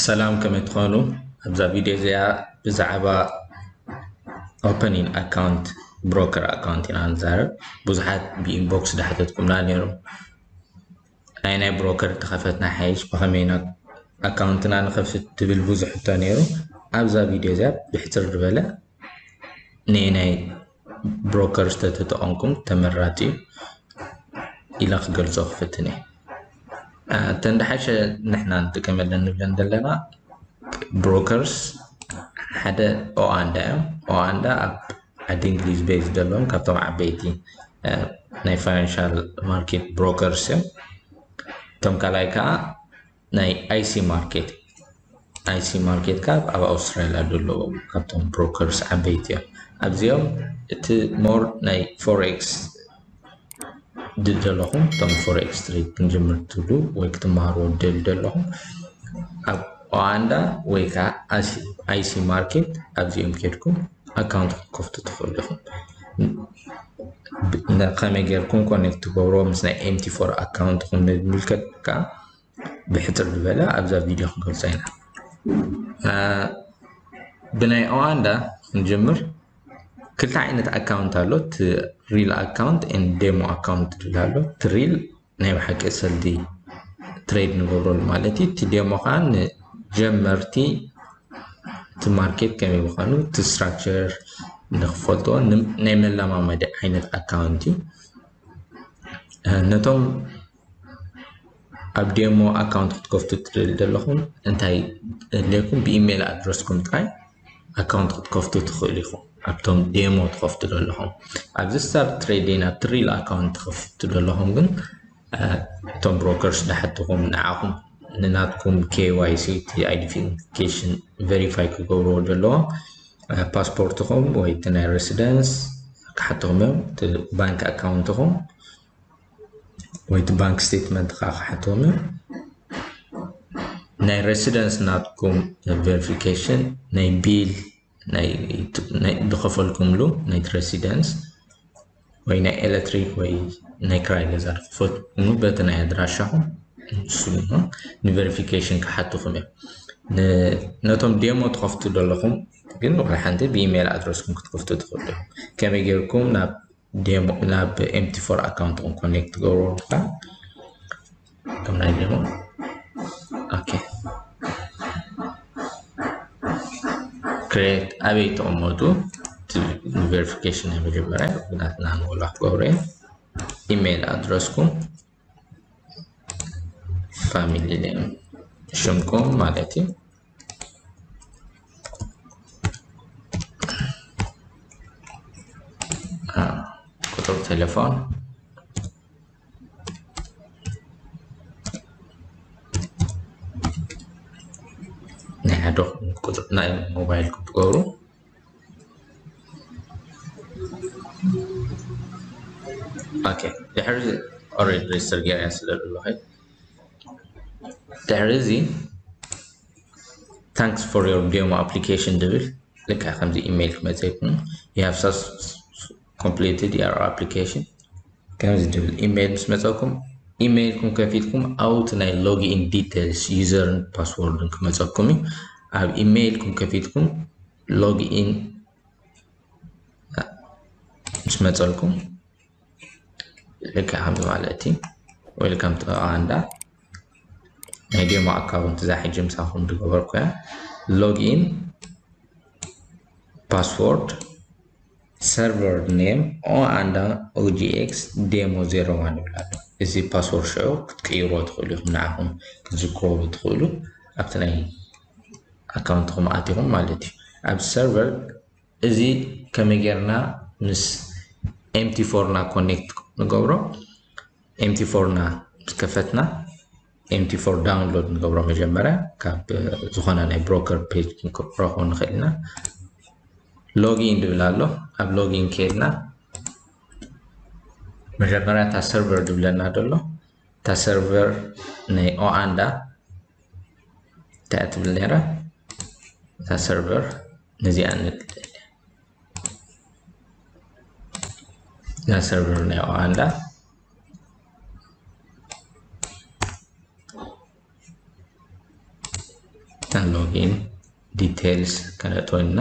ሰላም፣ ከመይ ትኾኑ? ኣብዛ ቪድዮ እዚኣ ብዛዕባ ኦፐኒንግ ኣካውንት፣ ብሮከር ኣካውንት ኢና ንዛረብ። ብዙሓት ብኢንቦክስ ዳሕተትኩምና ነይሩ። ናይ ናይ ብሮከር ተኸፈትና ሓይሽ ብኸመይና ኣካውንትና ንኸፍት ትብል ብዙሕ ሕቶ ነይሩ። ኣብዛ ቪድዮ እዚኣ ብሕፅር ዝበለ ናይ ናይ ብሮከር ዝተተጠቐምኩም ተመራፂ ኢለ ክገልፆ ክፍትን እየ። እተን ደሓሸ ንሕና ንጥቀመለን ንብለን ዘለና ብሮከርስ ሓደ ኦኣንዳ እዮም። ኦኣንዳ ኣብ ዓዲ እንግሊዝ ቤዝ ዘለዎም ካብቶም ዓበይቲ ናይ ፋይናንሻል ማርኬት ብሮከርስ እዮም። እቶም ካልኣይ ከዓ ናይ ኣይሲ ማርኬት፣ ኣይሲ ማርኬት ካብ ኣብ ኣውስትራሊያ ዘለዉ ካብቶም ብሮከርስ ዓበይቲ እዮም። ኣብዚኦም እቲ ሞር ናይ ፎሬክስ ድል ዘለኹም፣ እቶም ፎሬክስ ትሬድ ክንጅምር ትብሉ ወይ ክትመሃርዎ ደል ዘለኹም፣ ኣብ ኦኣንዳ ወይ ከዓ ኣይሲ ማርኬት ኣብዚኦም ኬድኩም ኣካውንት ክትከፍቱ ትኽእሉ ኢኹም። ከመይ ጌርኩም ኮኔክት ትገብርዎ ምስ ናይ ኤምቲ ፎር ኣካውንትኩም ንምልከት ከዓ ብሕፅር ዝበለ ኣብዛ ቪድዮ ክንገልፆ ኢና። ብናይ ኦኣንዳ ክንጅምር ክልተ ዓይነት ኣካውንት ኣሎ። እቲ ሪል ኣካውንት ን ዴሞ ኣካውንት ትብል ኣሎ። እቲ ሪል ናይ ብሓቂ ሰልዲ ትሬድ ንገብረሉ ማለት እዩ። እቲ ዴሞ ከዓ ንጀመርቲ እቲ ማርኬት ከመይ ምዃኑ እቲ ስትራክቸር ንክፈልጥዎ ናይ መለማመዲ ዓይነት ኣካውንት እዩ። ነቶም ኣብ ዴሞ ኣካውንት ክትከፍቱ ትደልዩ ዘለኹም እንታይ ድሌኩም ብኢሜይል ኣድረስኩም ጥራይ ኣካውንት ክትከፍቱ ትኽእሉ ኢኹም። ኣብቶም ዴሞ ትኸፍቱ ዘለኹም ኣብዚ ስታርት ትሬዲንግ ኣብቲ ሪል ኣካውንት ትኸፍቱ ዘለኹም ግን እቶም ብሮከርስ ዝሓትኹም ንዓኹም ንናትኩም ኬዋይሲ እቲ ኣይደንቲፊኬሽን ቨሪፋይ ክገብርዎ ዘለዎም ፓስፖርትኹም ወይ እቲ ናይ ሬሲደንስ ክሓትኹም እዮም። እቲ ባንክ ኣካውንትኹም ወይ እቲ ባንክ ስቴትመንት ከዓ ክሓትኹም እዮም። ናይ ሬሲደንስ ናትኩም ቨሪፊኬሽን ናይ ቢል ዝኸፈልኩምሉ ናይ ሬሲደንስ ወይ ናይ ኤሌክትሪክ ወይ ናይ ክራይ ገዛ ዝኸፈልኩምሉ በቲ ናይ ኣድራሻኹም ንሱ ንቨሪፊኬሽን ክሓትኹም እዮም። ነቶም ዴሞ ትኸፍቱ ዘለኹም ግን ዋላ ሓንቲ ብኢሜይል ኣድረስኩም ክትከፍቱ ትኽእሉ። ከመይ ጌርኩም ናብ ዴሞ ናብ ኤምቲ ፎር ኣካውንትኩም ኮኔክት ትገብሩ ከዓ ከም ናይ ዴሞ ኦኬ ክሬት ኣበይ ተቐመጡ ቨሪፊኬሽን ናይ መጀመርያ ብናትና ንወላ ክገብሩ እዮም። ኢሜይል ኣድረስኩም ፋሚሊ ኔም ሽምኩም ማለት እዩ። ቁጥር ቴሌፎን ናይ ሓደ ቁጥር ናይ ሞባይል ክትገብሩ ኦኬ ድሕሪ ኦሬዲ ሬጅስተር ገይረ ስለ ዘለኹ ድሕሪ እዚ thanks for your demo application ድብል ልካ ከምዚ ኢሜይል ክመፀኩም you have completed your application ከምዚ ድብል ኢሜይል ምስ መፀኩም ኢሜይልኩም ከፊትኩም ኣብቲ ናይ ሎጊን ዲቴልስ ዩዘርን ፓስወርድን ክመፀኩም እዩ። ኣብ ኢሜይልኩም ከፊትኩም ሎጊን ምስ መፀልኩም ልክዕ ከምዚ ማለት እዩ። Welcome to ኦኣንዳ ናይ ዴሞ ኣካውንት እዛ ሕጂ ምሳኹም ዝገበርኩ እያ። ሎጊን ፓስወርድ ሰርቨር ኔም ኦኣንዳ ኦጂኤክስ ዴሞ ዜሮ ዋን ይብል ኣሎ። እዚ ፓስወርድ ሽዑ ክትቅይርዎ ትኽእሉ ኢኹም ንዓኹም ክትዝክርዎ ትኽእሉ ኣብቲ ናይ ኣካውንትኹም ኣቲኹም ማለት እዩ። ኣብ ሰርቨር እዚ ከመይ ጌርና ምስ ኤምቲ ፎርና ኮኔክት ንገብሮ? ኤምቲ ፎርና ምስ ከፈትና ኤምቲ ፎር ዳውንሎድ ንገብሮ መጀመርያ ካብ ዝኾነ ናይ ብሮከር ፔጅ ክንረኽቦ ንኽእል ኢና። ሎጊን ድብል ኣሎ። ኣብ ሎጊን ከይድና መጀመርያ እታ ሰርቨር ድብለና ደሎ እታ ሰርቨር ናይ ኦኣንዳ እንታይ ትብል ነይራ እታ ሰርቨር ነዚኣ ንብል እዛ ሰርቨር ናይ ኦኣንዳ login details ከነእትወልና።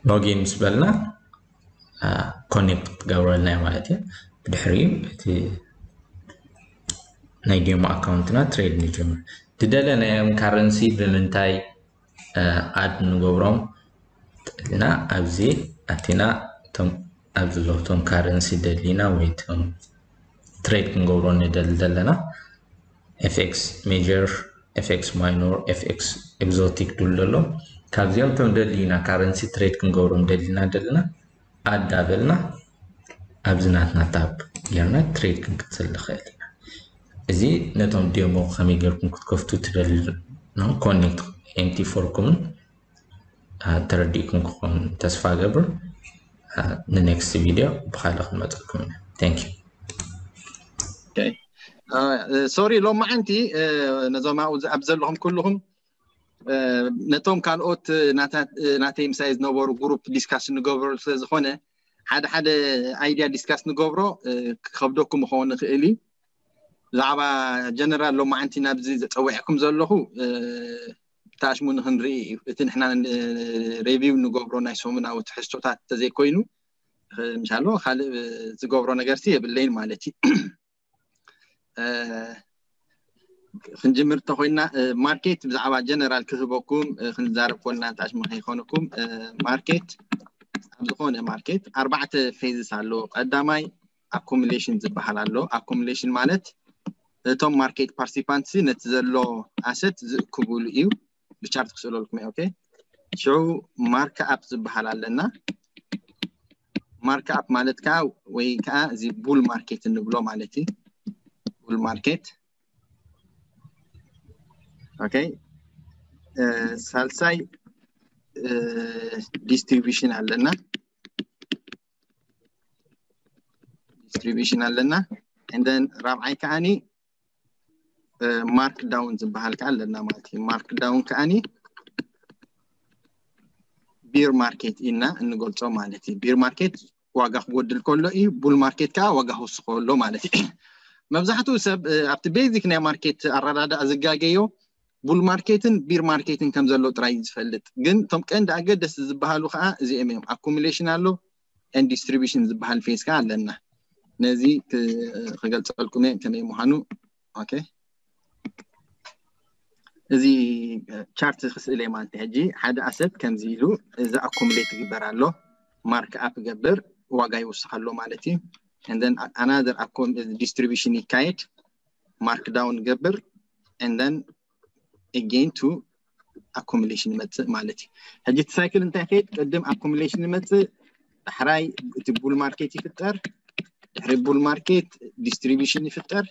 login ምስ በልና ኮኔክት ክትገብረልና ማለት እዩ። ብድሕሪኡ እቲ ናይ ዴሞ ኣካውንትና ትሬድ ንጀምር። ዝደለናዮም ካረንሲ ብምንታይ ኣድ ንገብሮም እና ኣብዚ ኣቲና እቶም ኣብዚ ዘለዉ እቶም ካረንሲ ደሊና ወይ እቶም ትሬድ ክንገብሮ ንደሊ ዘለና ኤፍኤክስ ሜጀር፣ ኤፍኤክስ ማይኖር፣ ኤፍኤክስ ኤግዞቲክ ድሉ ዘሎ ካብዚኦም እቶም ደሊና ካረንሲ ትሬድ ክንገብሮም ደሊና ደለና ኣድ ዳበልና ኣብዚ ናትና ታብ ጌርና ትሬድ ክንክትል ንኽእል ኢና። እዚ ነቶም ዴሞ ከመይ ጌርኩም ክትከፍቱ ትደልዩ ኮኔክት ኤምቲ ፎርኩምን ተረዲእኩም ክኾን ተስፋ ገብር። ንኔክስት ቪድዮ ብካልእ ክንመፀልኩም ኢና። Thank you። ሶሪ ሎማዓንቲ ነዞም ኣብኡ ኣብ ዘለኹም ኩልኹም ነቶም ካልኦት ናተይ ምሳይ ዝነበሩ ግሩፕ ዲስካስ ንገብረሉ ስለ ዝኾነ ሓደ ሓደ ኣይድያ ዲስካስ ንገብሮ ክኸብደኩም ክኸውን ይኽእል እዩ። ብዛዕባ ጀነራል ሎማዓንቲ ናብዚ ዘፀዊዕኩም ዘለኹ ታሽሙ ንክንርኢ እዩ። እቲ ንሕና ሬቪው ንገብሮ ናይ ሰሙናዊ ትሕዝቶታት ተዘይኮይኑ ምሻሎ ካልእ ዝገብሮ ነገርሲ የብለይን ማለት እዩ። ክንጅምር እንተኮይና ማርኬት ብዛዕባ ጀነራል ክህበኩም ክንዛረብ ኮልና ታሽሙ ከይኮነኩም ማርኬት ኣብ ዝኾነ ማርኬት ኣርባዕተ ፌዝስ ኣለዎ። ቀዳማይ ኣኮሚሌሽን ዝበሃል ኣሎ። ኣኮሚሌሽን ማለት እቶም ማርኬት ፓርቲሲፓንትስ ነቲ ዘሎ ኣሰት ዝእክቡሉ እዩ። ብቻርት ክስእለልኩም እየ። ኦኬ ሽዑ ማርክ ኣፕ ዝበሃል ኣለና። ማርክ ኣፕ ማለት ከዓ ወይ ከዓ እዚ ቡል ማርኬት እንብሎ ማለት እዩ። ቡል ማርኬት ኦኬ። ሳልሳይ ዲስትሪቢሽን ኣለና። ዲስትሪቢሽን ኣለና። እንደን ራብዓይ ከዓኒ ማርክ ዳውን ዝበሃል ከዓ ኣለና ማለት እዩ። ማርክ ዳውን ከዓኒ ቢር ማርኬት ኢና እንገልጾ ማለት እዩ። ቢር ማርኬት ዋጋ ክጎድል ከሎ እዩ። ቡል ማርኬት ከዓ ዋጋ ክውስኽ ከሎ ማለት እዩ። መብዛሕትኡ ሰብ ኣብቲ ቤዚክ ናይ ማርኬት ኣረዳድኣ ዝጋገዮ ቡል ማርኬትን ቢር ማርኬትን ከም ዘሎ ጥራይ ዝፈልጥ፣ ግን እቶም ቀንዲ ኣገደስቲ ዝበሃሉ ከዓ እዚኦም እዮም። ኣኩሙሌሽን ኣሎ፣ ኤንድ ዲስትሪቢሽን ዝበሃል ፌዝ ከዓ ኣለና። ነዚ ክገልፀልኩም እየ ከመይ ምዃኑ። ኦኬ እዚ ቻርት ክስእል እየ ማለት ሕጂ ሓደ ኣሰት ከምዚ ኢሉ እዚ ኣኮሙሌት ይግበር ኣሎ፣ ማርክ ኣፕ ይገብር፣ ዋጋ ይውስኽ ኣሎ ማለት እዩ። And then another ዲስትሪቢሽን ይካየድ፣ ማርክ ዳውን ይገብር፣ and then again to ኣኮሙሌሽን ይመፅእ ማለት እዩ። ሕጂ እቲ ሳይክል እንታይ ከይድ? ቅድም ኣኮሙሌሽን ይመፅእ፣ ዳሕራይ እቲ ቡል ማርኬት ይፍጠር፣ ድሕሪ ቡል ማርኬት ዲስትሪቢሽን ይፍጠር፣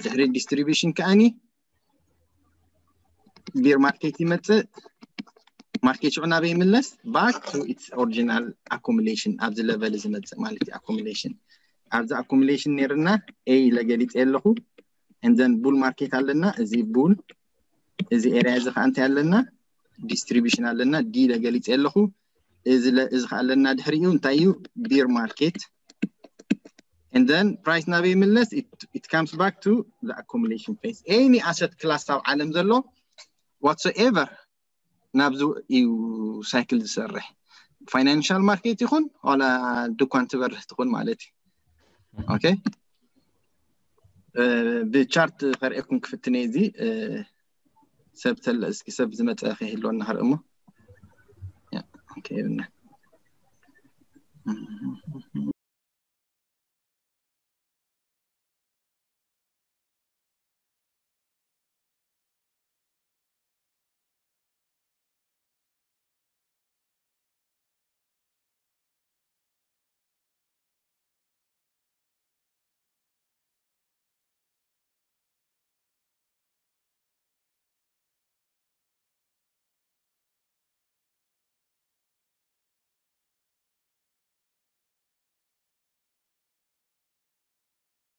ድሕሪ ዲስትሪቢሽን ከዓኒ ቢር ማርኬት ይመፅእ። ማርኬት ሽዑ ናበይ ይምለስ? Back to its original accumulation፣ ኣብዚ ለቨል ዝመፅእ ማለት እዩ። ኣኮሙሌሽን ኣብዚ ኣኮሙሌሽን ነይርና ኤ ኢለ ገሊፀ ኣለኹ። And then ቡል ማርኬት ኣለና። እዚ ቡል እዚ ኤሪያ እዚ ከዓ እንታይ ኣለና? ዲስትሪቢሽን ኣለና። ዲ ኢለ ገሊፀ ኣለኹ። እዚ እዚ ከዓ ኣለና። ድሕሪኡ እንታይ እዩ? ቢር ማርኬት። And then ፕራይስ ናበይ ይምለስ? It comes back to the accumulation phase። Any asset class ኣብ ዓለም ዘሎ whatsoever ናብዚ እዩ ሳይክል ዝሰርሕ። ፋይናንሻል ማርኬት ይኹን ዋላ ድኳን ትበርህ ትኹን ማለት እዩ። ኦኬ ብቻርት ከርእየኩም ክፍትነ እዚ ሰብ ተለ እስኪ ሰብ ዝመፀ ከይህልወና ከርኢ እሞ ኦኬ ይብልና።